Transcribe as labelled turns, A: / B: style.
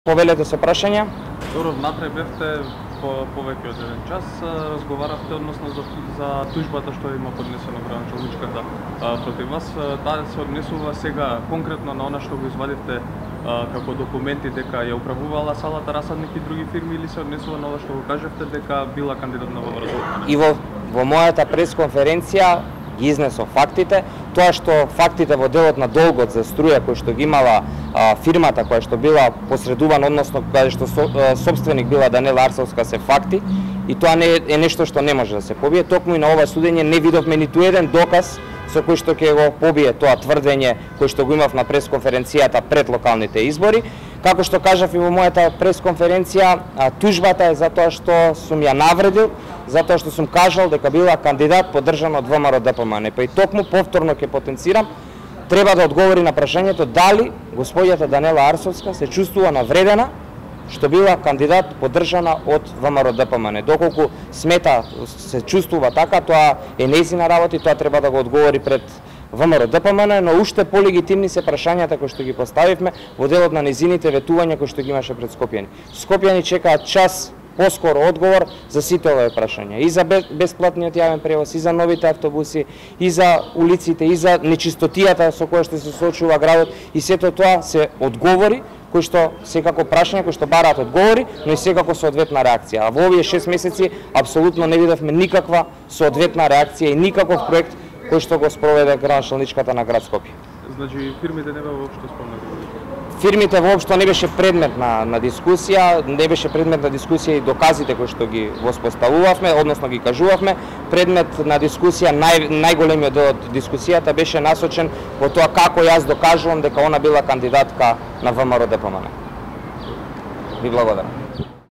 A: Повелете се прашања.
B: Добро, внатре бевте повеќе од еден час, разговаравте односно за тужбата што има поднесено градоначалничката против вас. Таа се однесува сега конкретно на она што го извадивте како документи дека ја управувала салата Расадник и други фирми, или се однесува на ова што го кажевте дека била кандидат на ВМРО?
A: И во мојата пресконференција ги изнесов фактите, тоа што фактите во делот на долгот за струја кој што ги имала фирмата која што била посредувана, односно каде што сопственик била Данела Арсовска, се факти и тоа не е нешто што не може да се побие. Токму и на ова судење не видовме ниту еден доказ со кој што ќе го побие тоа тврдење кој што го имав на пресконференцијата пред локалните избори. Како што кажав и во мојата пресконференција, тужбата е затоа што сум ја навредил, затоа што сум кажал дека била кандидат поддржан од ВМРО-ДПМН. Па и токму повторно ќе потенцирам, треба да одговори на прашањето дали господјата Данела Арсовска се чувствува навредена што била кандидат поддржана од ВМРО-ДПМН. Доколку смета се чувствува така, тоа е нејзина работа и тоа треба да го одговори пред ВМРО-ДПМН, но уште полегитимни се прашањата кои што ги поставивме во делот на незините ветувања кои што ги имаше пред Скопјани. Скопјани чекаат час поскоро одговор за сите овие прашања, и за бесплатниот јавен превоз, и за новите автобуси, и за улиците, и за нечистотијата со која што се соочува градот, и сето тоа се одговори кои што секако прашања кои што бараат одговори, но и секако соодветна реакција. А во овие 6 месеци апсолутно не видовме никаква соодветна реакција и никаков проект кој што го спроведе градоначалничката на град Скопје.
B: Значи фирмите не беа воопшто спомнати?
A: Фирмите воопшто не беше предмет на дискусија, не беше предмет на дискусија и доказите кои што ги воспоставувавме, односно ги кажувавме. Предмет на дискусија, најголемиот дел од дискусијата беше насочен во тоа како јас докажувам дека она била кандидатка на ВМРО-ДПМН. Ви благодарам.